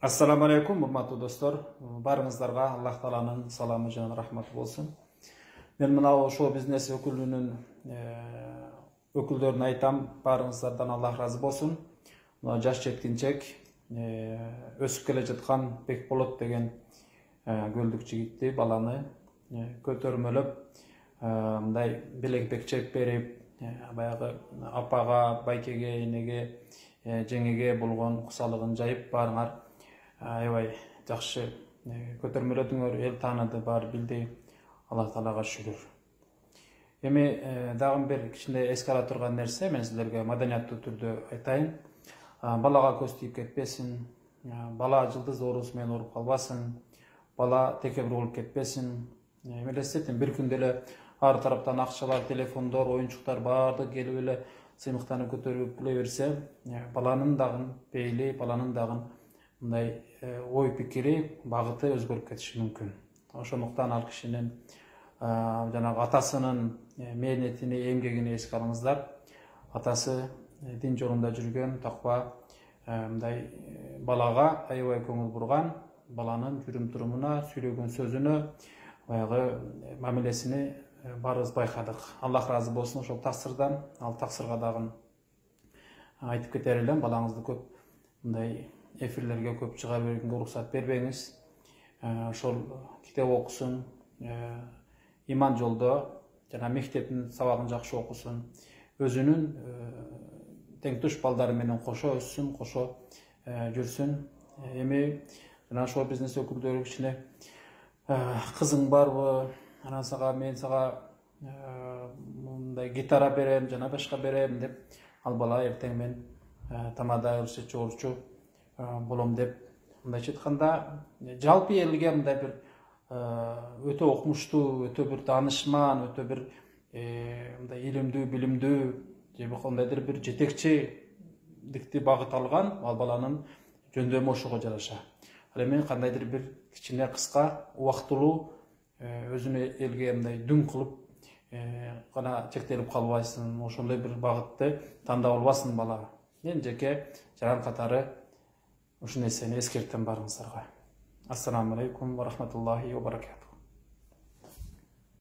Ассаламу алейкум, урматтуу достор. Барыңыздарга Аллах Тааланын саламы жана рахматы болсун. Мен мына шоу бизнес өкүлүнүн өкүлдөрүнө айтам, барыңыздардан Аллах разы болсун. Мына жаш жеткинчек өсүп келе жаткан Бекболот деген көлдүк жигитти, баланы көтөрмөлөп, мындай белек чек берип, баягы апага, байкеге, энеге, жеңеге болгон кусалыгын жайып, барыңар аябай жакшы көтөрмөлөдүңөр, эл тааныды, баары билди. Аллах Таалага шүгүр. Эми дагы бир кичине эске ала турган нерсе, мен силерге маданияттуу түрдө айтайын. Балага көз тийип кетпесин, бала жылдыз оорусу менен ооруп калбасын, бала текебир болуп кетпесин. Элестетин, бир күндө эле ар тараптан акчалар, телефондор, оюнчуктар баардыгы келип эле сыймыктарды көтөрүп келе берсе, баланын дагы пейили, баланын дагы мындай ой пикири, багыты өзгөрүп кетиши мүмкүн. Ошондуктан ал кишинин жанагы атасынын мээнетини, эмгегини эске алыңыздар. Атасы дин жолунда жүргөн, таква, мындай балага аябай көңүл бурган, баланын жүрүм турумуна, сүйлөгөн сөзүнө, баягы мамилесини баарыбыз байкадык. Аллах разы болсун ошол таксырдан. Ал таксырга дагы айтып кетер элем, балаңызды көп мындай эфирлерге көп чыга бергенге уруксат бербеңиз. Ошол китеп окусун, иман жолдо жана мектептин сабагын жакшы окусун, өзүнүн тең туш балдары менен кошо өссүн, кошо жүрсүн. Эми жана шоу бизнес өкүлдөрү кичине кызың барбы, анан мен сага мындай гитара берем, жана башка берем деп, ал бала эртең мен тамада чогулчу болом деп мындайча айтканда, жалпы элге мындай бир өтө окумуштуу, өтө бир таанышман, өтө бир мындай илимдүү, билимдүү, же кандайдыр бир жетекчиликти багыт алган ал баланын жөндөмү ошого жараша. Ал эми кандайдыр бир кичине кыска, убактылуу өзүнө элге мындай дүң кылып гана чектелип калбайсың, ошондой бир багытты тандап албасын бала. Мен жеке жаран катары ушул нерсени эскертем барыңыздарга. Ассаламу алейкум ва рахматуллахи ва баракатух.